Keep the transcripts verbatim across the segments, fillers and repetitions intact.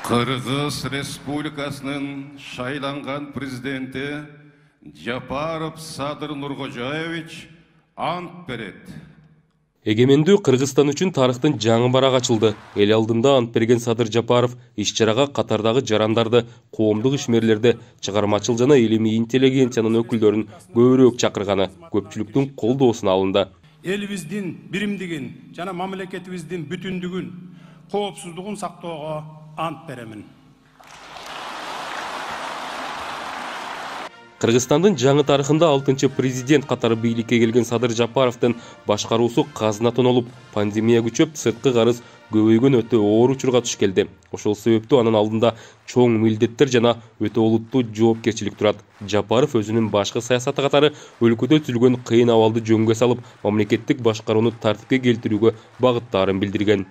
Кыргыз Республикасынын шайланган президенти Жапаров Садыр Нуркожоевич ант берет. Эгемендүү Кыргызстан үчүн тарыхтын жаңы барак ачылды. Эл алдында ант берген Садыр Жапаров иш-чарага катардагы жарандарды, коомдук ишмерлерди, чыгармачыл жана илимий интеллигенциянын өкүлдөрүн көбүрөөк чакырганы көпчүлүктүн колдоосуна алынды. Элибиздин биримдигин жана мамлекетибиздин бүтүндүгүн, коопсуздугун сактоого ант беремин. Кыргызстандын жаңы тарыхында алтынчы президент катары бийликке келген Садыр Жапаровдун башкаруусу казнатон олуп, пандемия күчөп, сырткы карыз көбөйгөн өтө оор учурга туш келди. Ошол себептүү анын алдында чоң милдеттер жана өтө олуттуу жоопкерчилик турат. Жапаров өзүнүн башкы саясаты катары өлкөдө түзүлгөн кыйын абалды жөнгө салып, мамлекеттик башкарууну тартипке келтирүүгө багыттаарын билдирген.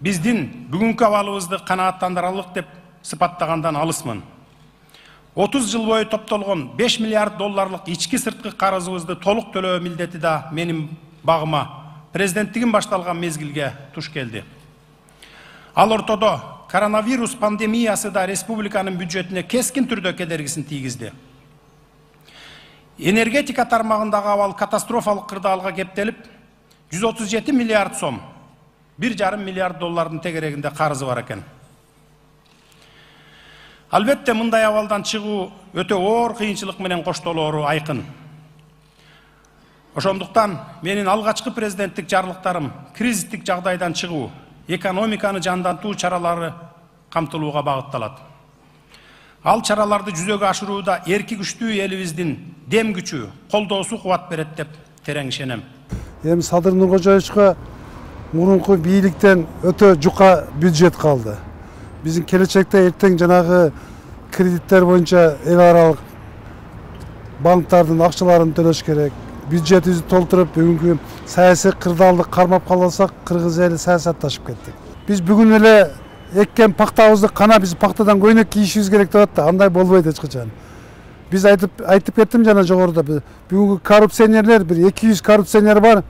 Биздин бүгүнкү абалыбызды канааттандырарлык деп сыпаттагандан алысмын. отуз жыл бою топтолгон беш миллиард долларлык ички сырткы карызыбызды толук төлөө милдети да менин багыма президенттигим башталган мезгилге туш келди. Ал ортодо коронавирус пандемиясы да республиканын бюджетине кескин түрдө кедергисин тийгизди. Энергетика тармагындагы абал катастрофалык кырдаалга кептелип, жүз отуз жети миллиард сом, бир жарым миллиард доллардын тегерегинде карызы бар экен. Албетте мындай абалдан чыгуу өтө оор кыйынчылык менен коштолоору айкын. Ошондуктан менин алгачкы президенттик жарлыктарым кризистик жагдайдан чыгуу, экономиканы жандантуу чаралары камтылууга багытталат. Ал чараларды жүзөгө ашырууда эрки күчтүү элибиздин дем күчү, колдоосу кубат берет деп терең ишенем. Эми Садыр Нуркожоевичке мурунку бийликтен өтө жука бюджет калды. Биздин келечекте эртең жанагы кредиттер боюнча эл аралык банктардын акчаларын төлөш керек. Бюджетибизди толтуруп, бүгүнкү саясий кырдаалды кармап калсак, кыргыз эли саясатташып кеттик. Биз бүгүн эле эккен пактабызды кана биз пактадан көйнөк кийишибиз керек деп атты. Андай болбойт эч качан. Биз айтып айтып кеттим жана жогоруда, бүгүнкү коррупционерлер бир эки жүз коррупционер бар.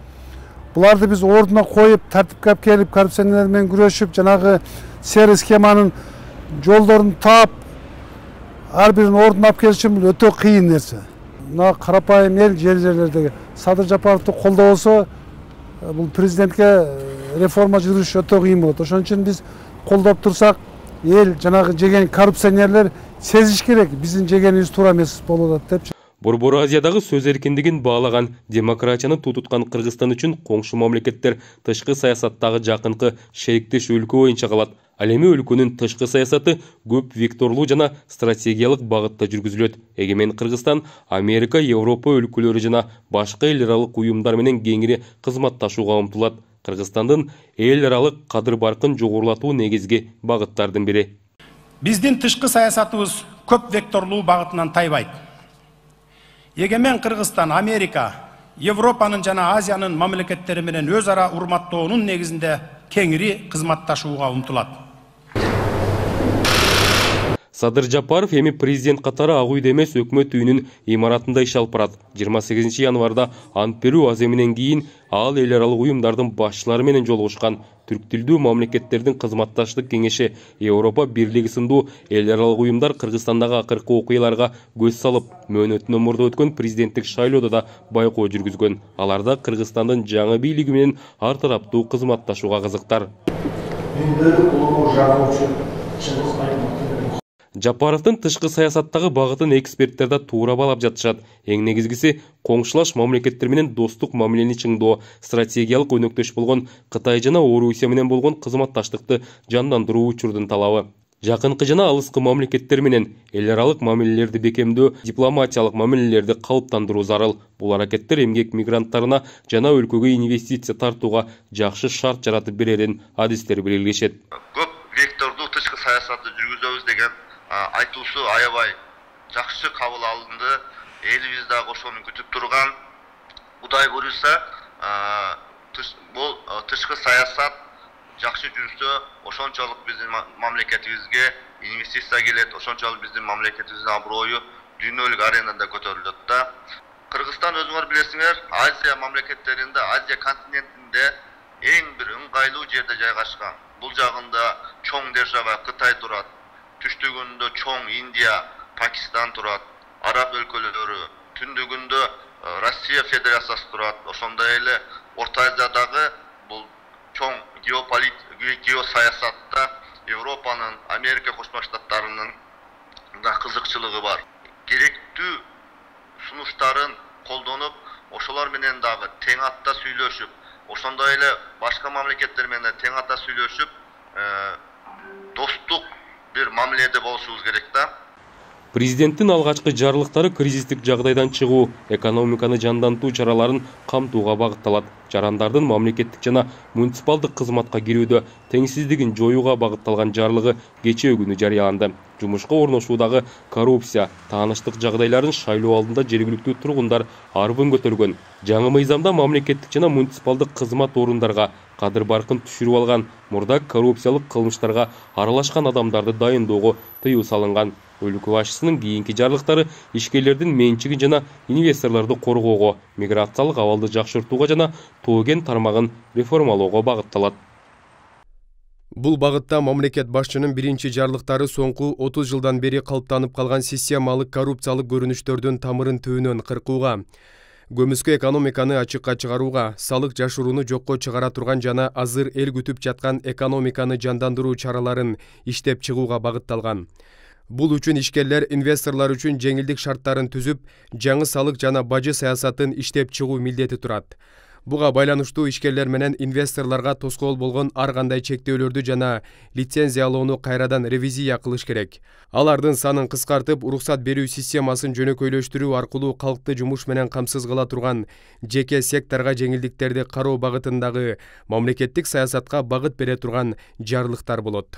Буларды биз ордуна коюп, тартипке алып келип, коррупционерлер менен күрөшүп, жанагы серый схеманын жолдорун таап, ар бирин ордуна алып келиш үчүн өтө кыйын нерсе. Мына карапайым эл жер жерлердеги Садыр Жапаровду колдобосо, бул президентке реформа жүргүзүш өтө кыйын болот. Ошон үчүн биз колдоп турсак, эл жанагы жеген коррупционерлер сезиш керек, биздин жегенибиз туура эмес болуп атат деп. Борбор Азиядагы сөз эркиндигин баалаган, демократияны тутуткан Кыргызстан үчүн коңшу мамлекеттер тышкы саясаттагы жакынкы шериктеш өлкө боюнча калат. Ал эми өлкөнүн тышкы саясаты көп векторлуу жана стратегиялык багытта жүргүзүлөт. Эгемен Кыргызстан Америка, Европа өлкөлөрү жана башка эл аралык уюмдар менен кеңири кызматташууга умтулат. Кыргызстандын эл аралык кадыр-баркын жогорулатуу негизги багыттардын бири. Биздин тышкы саясатыбыз көп векторлуу багытынан тайбайт. Эгемен Кыргызстан Америка, Европанын жана Азиянын мамлекеттери менен өз ара урматтоонун негизинде кеңири кызматташууга умтулат. Садыр Жапаров эми президент катары Ак үйдө эмес өкмөт үйүнүн имаратында иш алып барат. жыйырма сегизинчи январда ант берүү аземинен кийин ал эл аралык уюмдардын башчылары менен жолугушкан. Түрк тилдүү мамлекеттердин кызматташтык кеңеши, Европа бирлиги сындуу эл аралык уюмдар Кыргызстандагы акыркы окуяларга көз салып, мөөнөтүнөн мурда өткөн президенттик шайлоодо да байкоо жүргүзгөн. Аларда Кыргызстандын жаңы бийлиги менен ар тараптуу кызматташууга кызыктар. Жапаровдун тышкы саясаттагы багытын эксперттер да туура баалап жатышат. Эң негизгиси коңшулаш мамлекеттер менен достук мамилени чыңдоо, стратегиялык өнөктөш болгон Кытай жана Орусия менен болгон кызматташтыкты жандандыруу учурдун талабы. Жакынкы жана алыскы мамлекеттер менен эл аралык мамилелерди бекемдөө, дипломатиялык мамилелерди калыптандыруу зарыл. Бул аракеттер эмгек мигранттарына жана өлкөгө инвестиция тартууга жакшы шарт жаратып берерин адистер белгилешет. Көп вектордуу тышкы саясатты жүргүзөбүз деген айтуусу аябай жакшы кабыл алынды. Элибиз дагы ошону күтүп турган. Кудай буюрса, бул тышкы саясат жакшы жүрсө, ошончолук биздин мамлекетибизге инвестиция келет, ошончолук биздин мамлекетибиздин аброю дүйнөлүк аренада көтөрүлөт да. Кыргызстан өзүңөр билесиңер, Азия мамлекеттеринде, Азия континентинде эң бир ыңгайлуу жерде жайгашкан. бул жагында чоң держава Кытай турат, түштүгүндө чоң Индия, Пакистан турат, араб өлкөлөрү, түндүгүндө Россия Федерациясы турат. Ошондой эле Орто Азиядагы бул чоң геосаясатта Европанын, Америка Кошмо Штаттарынын да кызыкчылыгы бар. Керектүү сунуштарын колдонуп, ошолор менен дагы тең атта сүйлөшүп, ошондой эле башка мамлекеттер менен тең атта сүйлөшүп, достук бир мамиледе болушубуз керек да. Президенттин алгачкы жарлыктары кризистик жагдайдан чыгуу, экономиканы жандантуу чараларын камтууга багытталат. Жарандардын мамлекеттик жана муниципалдык кызматка кирүүдө теңсиздигин жоюуга багытталган жарлыгы кечээ күнү жарыяланды. Жумушка орношуудагы коррупция, тааныштык жагдайларын шайлоо алдында жергиликтүү тургундар арбын көтөргөн. Жаңы мыйзамда мамлекеттик жана муниципалдык кызмат орундарга кадыр баркын түшүрүп алган, мурда коррупциялык кылмыштарга аралашкан адамдарды дайындоого тыюу салынган. Өлкө башчысынын кийинки жарлыктары ишкерлердин менчигин жана инвесторлорду коргоого, миграциялык абалды жакшыртууга жана тоо кен тармагын реформалоого багытталат. Бул багытта мамлекет башчынын биринчи жарлыктары соңку отуз жылдан бери калыптанып калган системалык коррупциялык көрүнүштөрдүн тамырын түбүнөн кыркууга, көмүскө экономиканы ачыкка чыгарууга, салык жашырууну жокко чыгара турган жана азыр эл күтүп жаткан экономиканы жандандыруу чараларын иштеп чыгууга багытталган. Бул үчүн ишкерлер инвесторлор үчүн жеңилдик шарттарын түзүп, жаңы салык жана бажы саясатын иштеп чыгуу милдети турат. Буга байланыштуу ишкерлер менен инвесторлорго тоскоол болгон ар кандай чектөөлөрдү жана лицензиялоону кайрадан ревизия кылыш керек. Алардын санын кыскартып, уруксат берүү системасын жөнөкөйлөштүрүү аркылуу калкты жумуш менен камсыз кыла турган жеке секторго жеңилдиктерди кароо багытындагы мамлекеттик саясатка багыт бере турган жарлыктар болот.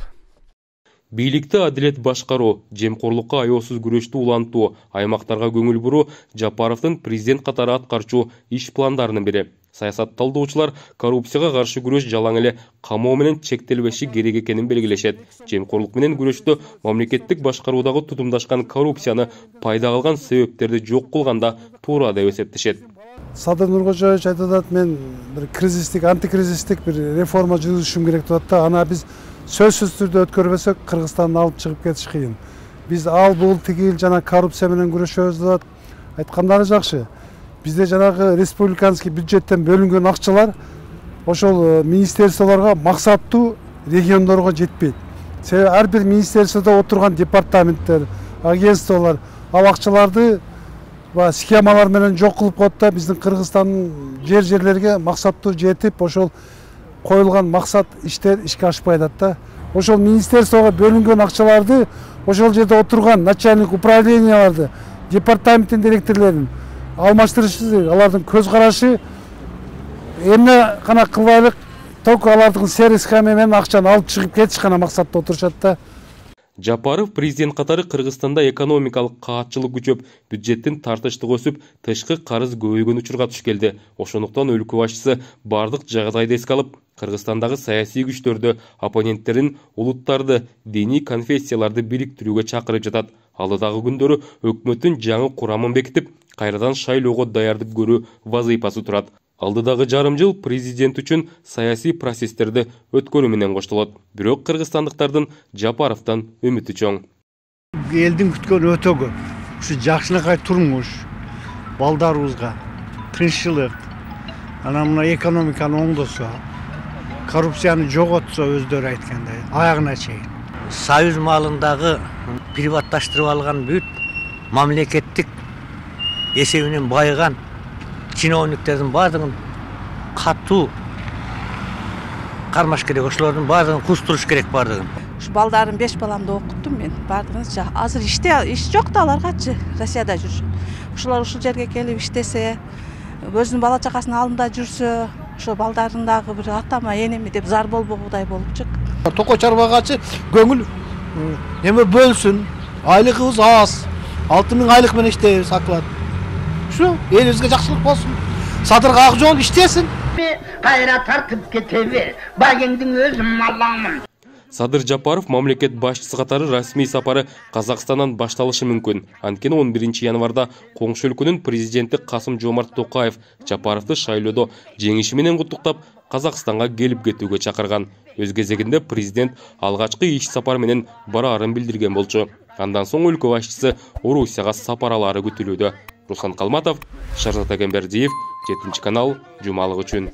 Бийликти адилет башкаруу, жемкорлукка аяосуз күрөштү улантуу, аймактарга көңүл буруу Жапаровдун президент катары аткарчу иш пландарынын бири. Саясат талдоочулар коррупцияга каршы күрөш жалаң эле камоо менен чектелбеши керек экенин белгилешет. Жемкорлук менен күрөштө мамлекеттик башкаруудагы тутумдашкан коррупцияны пайда кылган себептерди жок кылганда туура деп эсептешет. Садыр Нуркожоевич айтып атат, мен бир кризистик, антикризистик бир реформа жүргүзүшүм керек деп атат. Ана биз сөзсүз түрдө өткөрбөсөк Кыргызстанды алып чыгып кетиш кыйын. Биз ал бул тигил жана коррупция менен күрөшөбүз деп айткандары жакшы. Бизде жанагы республиканский бюджеттен бөлүнгөн акчалар ошол министерстволорго максаттуу региондорго жетпейт. Себеби ар бир министерстводо отурган департаменттер, агентстволор ал акчаларды схемалар менен жок кылып коет да, биздин Кыргызстандын жер жерлерге максаттуу жетип, ошол коюлган максат иштер ишке ашпай атат да. Ошол министерствого бөлүнгөн акчаларды ошол жерде отурган начальник управленияларды, департаменттин директорлорун алмаштырыш керек. Алардын көз карашы эмне гана кылбайлык, только алардын сервис схема менен акчаны алып чыгып кетиш гана максатта отурушат да. Жапаров президент катары Кыргызстанда экономикалык каатчылык күчөп, бюджеттин тартыштыгы өсүп, тышкы карыз көбөйгөн учурга туш келди. Ошондуктан өлкө башчысы бардык жагдайды эске алып, Кыргызстандагы саясий күчтөрдү, оппоненттерин, улуттарды, диний конфессияларды бириктирүүгө чакырып жатат. Алдыдагы күндөрү өкмөттүн жаңы курамын бекитип, кайрадан шайлоого даярдык көрүү вазыйпасы турат. Алдыдагы жарым жыл президент үчүн саясий процесстерди өткөрүү менен коштолот. Бирок кыргызстандыктардын Жапаровдон үмүтү чоң. Элдин күткөнү өтө көп. Ушу жакшынакай турмуш, балдарыбызга тынччылык, анан мына экономиканы оңдосо, коррупцияны жоготсо өздөрү айткандай, аягына чейин. Союз малындагы приватташтырып алган бүт мамлекеттик эсебинен байыган чиновниктердин баардыгын катуу кармаш керек, ошолордун баардыгын кустуруш керек баардыгын. Ушу балдарым беш баламды окуттум мен, баардыгын азыр иште, иш жок да аларгачы, Россияда жүрүшөт. Ошолор ушул жерге келип иштесе, өзүнүн бала чакасынын алдында жүрсө, ошо балдарын дагы бир атама, энеми деп зар болбогудай болупчу. Токо чарбагачы көңүл эме бөлсүн, айлыгыбыз аз, алты миң айлык менен иштейбиз оклад. Şu elibizge жақсылық болсын. Садырға ақ жол іштесін. Кайра тартып кетеби, багеңдин өзүм Аллаңмын. Садыр Жапаров мамлекет башчысы катары расмий сапары Казакстандан башталышы мүмкүн. Анткени он биринчи январда коңшу өлкөнүн президенти Касым Жомарт Токаев Жапаровду шайлоодо жеңиши менен куттуктап, Казакстанга келип кетүүгө чакырган. Өз кезегинде президент алгачкы иш сапар менен бараарын билдирген болчу. Андан соң өлкө башчысы Орусияга сапаралары күтүлүүдө. Руслан Калматов, Шарзат Агембердиев, жетинчи канал, жумалык үчүн.